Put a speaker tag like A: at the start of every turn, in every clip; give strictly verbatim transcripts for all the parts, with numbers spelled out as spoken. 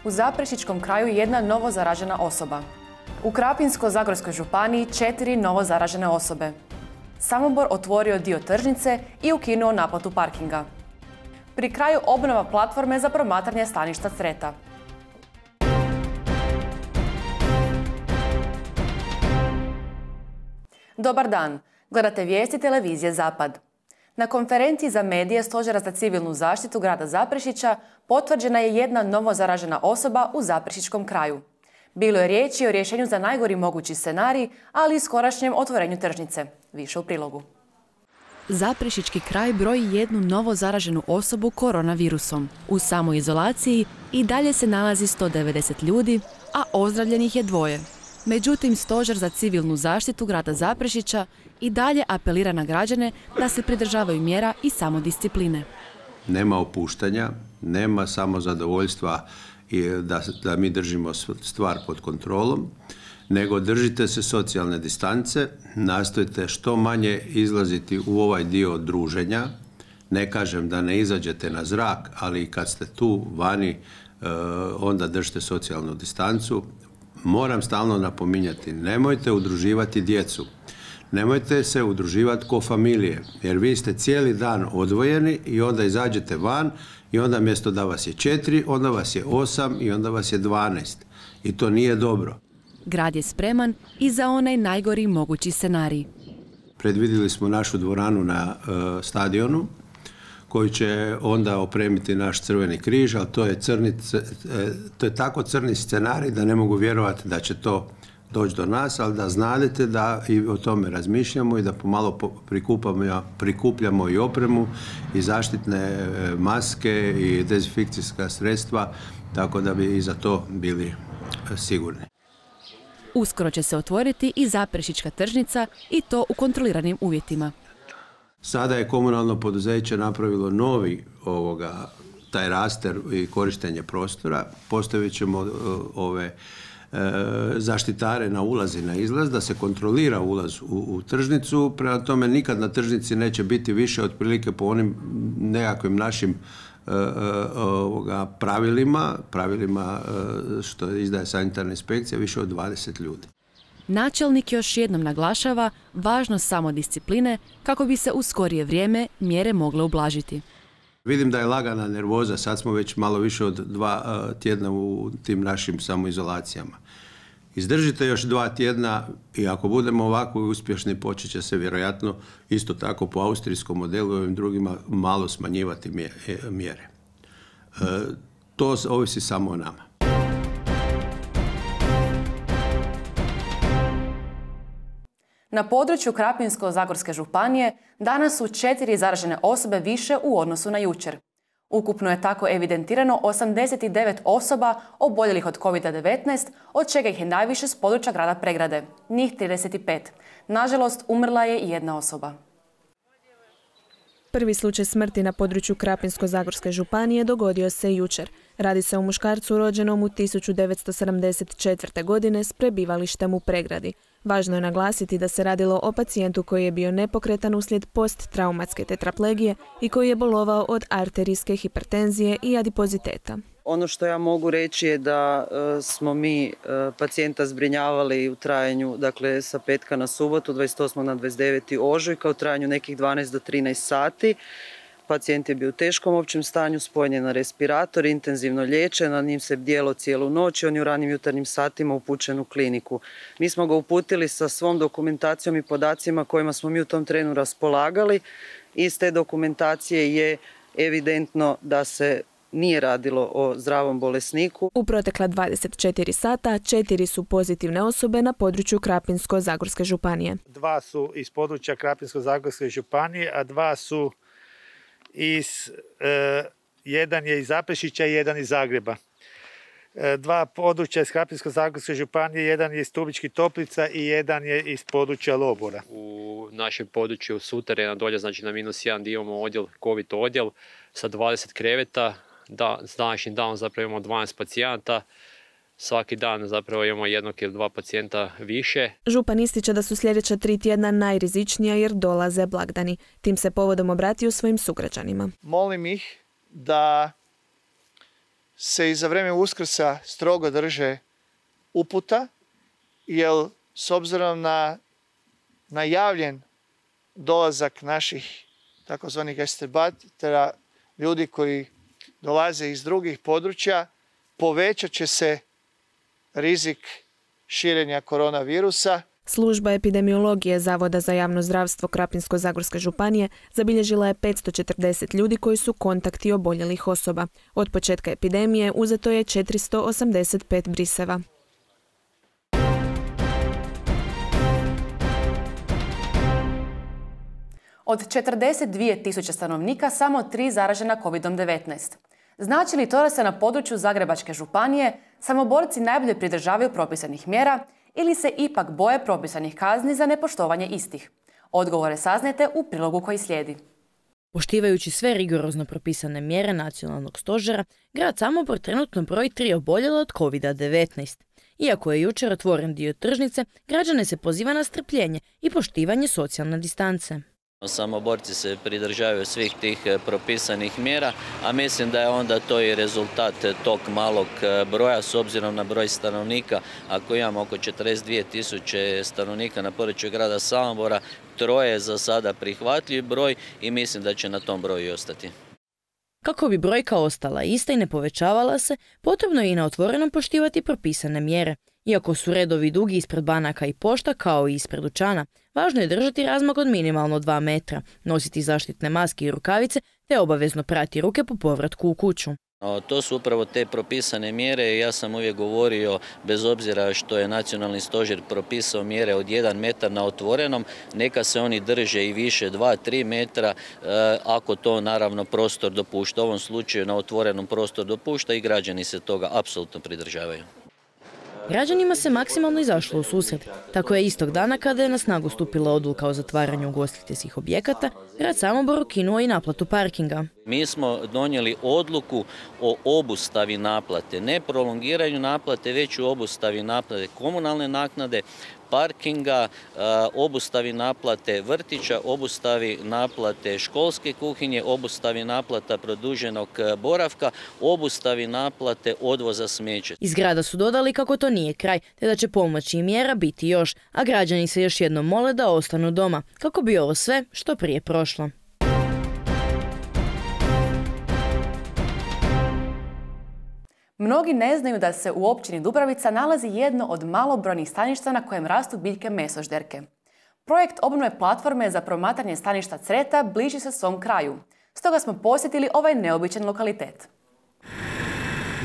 A: U Zaprešićkom kraju jedna novo zaražena osoba. U Krapinsko-zagorskoj županiji četiri novo zaražene osobe. Samobor otvorio dio tržnice i ukinuo naplatu parkinga. Pri kraju obnova platforme za promatranje staništa Creta. Dobar dan, gledate vijesti televizije Zapad. Na konferenciji za medije Stožera za civilnu zaštitu grada Zaprešića potvrđena je jedna novo zaražena osoba u Zaprešićkom kraju. Bilo je riječi o rješenju za najgori mogući scenarij, ali i skorašnjem otvorenju tržnice. Više u prilogu. Zaprešićki kraj broji jednu novo zaraženu osobu koronavirusom. U samoizolaciji i dalje se nalazi sto devedeset ljudi, a ozdravljenih je dvoje. Međutim, Stožer za civilnu zaštitu grada Zaprešića i dalje apelira na građane da se pridržavaju mjera i samodiscipline.
B: Nema opuštanja, nema samozadovoljstva i da, da mi držimo stvar pod kontrolom, nego držite se socijalne distance, nastojite što manje izlaziti u ovaj dio druženja. Ne kažem da ne izađete na zrak, ali kad ste tu vani, onda držite socijalnu distancu. Moram stalno napominjati, nemojte udruživati djecu, nemojte se udruživati ko familije, jer vi ste cijeli dan odvojeni i onda izađete van i onda mjesto da vas je četiri, onda vas je osam i onda vas je dvanaest. I to nije dobro.
A: Grad je spreman i za onaj najgori mogući scenarij.
B: Predvidjeli smo našu dvoranu na uh, stadionu, koji će onda opremiti naš Crveni križ, ali to je, crni, to je tako crni scenarij da ne mogu vjerovati da će to doći do nas, ali da znadete da i o tome razmišljamo i da pomalo prikupamo, prikupljamo i opremu i zaštitne maske i dezinfekcijska sredstva, tako da bi i za to bili sigurni.
A: Uskoro će se otvoriti i Zaprešićka tržnica i to u kontroliranim uvjetima.
B: Sada je komunalno poduzeće napravilo novi ovoga, taj raster i korištenje prostora. Postavit ćemo uh, ove uh, zaštitare na ulaz i na izlaz, da se kontrolira ulaz u, u tržnicu. Prema tome nikad na tržnici neće biti više otprilike po onim nekakvim našim uh, uh, ovoga, pravilima, pravilima uh, što izdaje sanitarna inspekcija, više od dvadeset ljudi.
A: Načelnik još jednom naglašava važnost samodiscipline kako bi se u skorije vrijeme mjere mogle ublažiti.
B: Vidim da je lagana nervoza, sad smo već malo više od dva uh, tjedna u tim našim samoizolacijama. Izdržite još dva tjedna i ako budemo ovako uspješni, počet će se vjerojatno isto tako po austrijskom modelu i ovim drugima malo smanjivati mjere. Uh, to ovisi samo o nama.
A: Na području Krapinsko-zagorske županije danas su četiri zaražene osobe više u odnosu na jučer. Ukupno je tako evidentirano osamdeset devet osoba oboljelih od kovid devetnaest, od čega ih je najviše s područja grada Pregrade, njih trideset pet. Nažalost, umrla je i jedna osoba.
C: Prvi slučaj smrti na području Krapinsko-zagorske županije dogodio se jučer. Radi se o muškarcu rođenom u tisuću devetsto sedamdeset četvrte. godine s prebivalištem u Pregradi. Važno je naglasiti da se radilo o pacijentu koji je bio nepokretan uslijed posttraumatske tetraplegije i koji je bolovao od arterijske hipertenzije i adipoziteta.
D: Ono što ja mogu reći je da e, smo mi e, pacijenta zbrinjavali u trajanju, dakle sa petka na subotu, dvadeset osmog na dvadeset deveti ožujka, u trajanju nekih dvanaest do trinaest sati. Pacijent je bio u teškom općem stanju, spojen je na respirator, intenzivno liječen, na njim se bdjelo cijelu noć i on je u ranim jutarnjim satima upućen u kliniku. Mi smo ga uputili sa svom dokumentacijom i podacima kojima smo mi u tom trenu raspolagali. Iz te dokumentacije je evidentno da se nije radilo o zdravom bolesniku.
C: U protekla dvadeset četiri sata četiri su pozitivne osobe na području Krapinsko-zagorske županije.
E: Dva su iz područja Krapinsko-zagorske županije, a dva su iz, e, jedan je iz Zaprešića i jedan iz Zagreba. E, dva područja iz Krapinsko-zagorske županije, jedan je iz Stubičkih Toplica i jedan je iz područja Lobora.
F: U našem području Suterena dolje, znači na minus jedan, imamo odjel, COVID odjel sa dvadeset kreveta. Da, s današnjim danom zapravo imamo dvanaest pacijenata. Svaki dan zapravo imamo jednog ili dva pacijenta više.
C: Župan ističe da su sljedeća tri tjedna najrizičnija jer dolaze blagdani. Tim se povodom obratio svojim sugrađanima.
E: Molim ih da
G: se i za vrijeme Uskrsa strogo drže uputa, jer s obzirom na najavljen dolazak naših takozvanih estebatera, ljudi koji dolaze iz drugih područja, povećat će se rizik širenja koronavirusa.
C: Služba epidemiologije Zavoda za javno zdravstvo Krapinsko-zagorske županije zabilježila je petsto četrdeset ljudi koji su kontakti oboljelih osoba. Od početka epidemije uzeto je četiristo osamdeset pet briseva.
A: Od četrdeset dvije tisuće stanovnika samo tri zaražena kovidom devetnaest. Znači li to da se na području Zagrebačke županije samoborci najbolje pridržavaju propisanih mjera ili se ipak boje propisanih kazni za nepoštovanje istih? Odgovore saznajte u prilogu koji slijedi.
H: Poštivajući sve rigorozno propisane mjere nacionalnog stožera, grad Samobor trenutno broji tri oboljela od kovida devetnaest. Iako je jučer otvoren dio tržnice, građane se poziva na strpljenje i poštivanje socijalne distance.
I: Samoborci se pridržavaju svih tih propisanih mjera, a mislim da je onda to i rezultat tog malog broja s obzirom na broj stanovnika. Ako imamo oko četrdeset dvije tisuće stanovnika na području grada Samobora, troje je za sada prihvatljiv broj i mislim da će na tom broju i ostati.
H: Kako bi brojka ostala ista i ne povećavala se, potrebno je i na otvorenom poštivati propisane mjere. Iako su redovi dugi ispred banaka i pošta kao i ispred dućana, važno je držati razmak od minimalno dva metra, nositi zaštitne maske i rukavice te obavezno prati ruke po povratku u kuću.
I: To su upravo te propisane mjere. Ja sam uvijek govorio, bez obzira što je nacionalni stožer propisao mjere od jedan metar na otvorenom, neka se oni drže i više, dva, tri metra, ako to naravno prostor dopušta. U ovom slučaju na otvorenom prostor dopušta i građani se toga apsolutno pridržavaju.
H: Građanima se maksimalno izašlo u susret. Tako je istog dana kada je na snagu stupila odluka o zatvaranju ugostiteljskih objekata, grad Samobor ukinuo i naplatu parkinga.
I: Mi smo donijeli odluku o obustavi naplate, ne prolongiranju naplate, već u obustavi naplate komunalne naknade, parkinga, obustavi naplate vrtića, obustavi naplate školske kuhinje, obustavi naplata produženog boravka, obustavi naplate odvoza smeća.
H: Iz grada su dodali kako to nije kraj, te da će pomoći i mjera biti još, a građani se još jednom mole da ostanu doma, kako bi ovo sve što prije prošlo.
A: Mnogi ne znaju da se u općini Dubravica nalazi jedno od malobrojnih staništa na kojem rastu biljke mesožderke. Projekt obnove platforme za promatranje staništa creta bliži se svom kraju. Stoga smo posjetili ovaj neobičan lokalitet.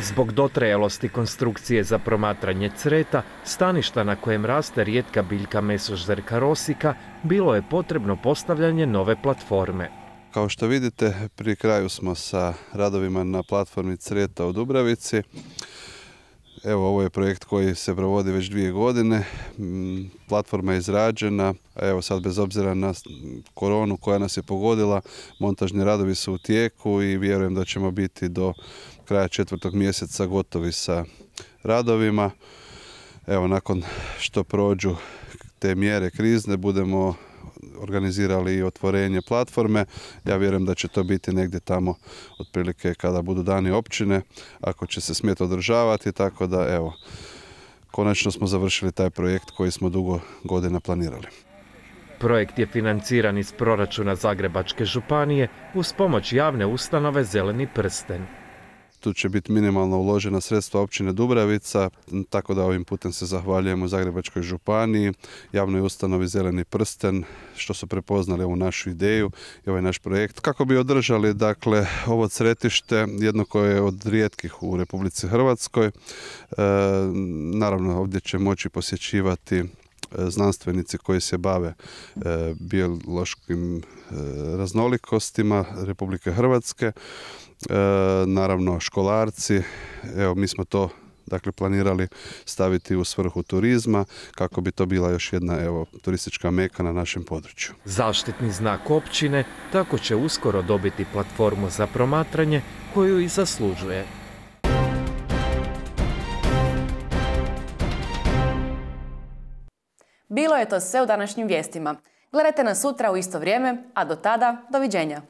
J: Zbog dotrajalosti konstrukcije za promatranje creta, staništa na kojem raste rijetka biljka mesožderka rosika, bilo je potrebno postavljanje nove platforme.
K: Kao što vidite, pri kraju smo sa radovima na platformi Creta u Dubravici. Evo, ovo je projekt koji se provodi već dvije godine. Platforma je izrađena, a evo sad bez obzira na koronu koja nas je pogodila, montažni radovi su u tijeku i vjerujem da ćemo biti do kraja četvrtog mjeseca gotovi sa radovima. Evo, nakon što prođu te mjere krizne, budemo organizirali i otvorenje platforme. Ja vjerujem da će to biti negdje tamo otprilike kada budu dani općine, ako će se smjeti održavati, tako da evo, konačno smo završili taj projekt koji smo dugo godina planirali.
J: Projekt je financiran iz proračuna Zagrebačke županije uz pomoć javne ustanove Zeleni prsten.
K: Tu će biti minimalno uložena sredstva općine Dubravica, tako da ovim putem se zahvaljujemo Zagrebačkoj županiji, javnoj ustanovi Zeleni prsten, što su prepoznali ovu našu ideju i ovaj naš projekt. Kako bi održali, dakle, ovo cretište, jedno koje je od rijetkih u Republici Hrvatskoj. E, naravno, ovdje će moći posjećivati znanstvenici koji se bave e, biološkim e, raznolikostima Republike Hrvatske, e, naravno školarci. Evo, mi smo to dakle planirali staviti u svrhu turizma kako bi to bila još jedna evo turistička meka na našem području.
J: Zaštitni znak općine tako će uskoro dobiti platformu za promatranje koju i zaslužuje.
A: Bilo je to sve u današnjim vijestima. Gledajte nas sutra u isto vrijeme, a do tada, doviđenja.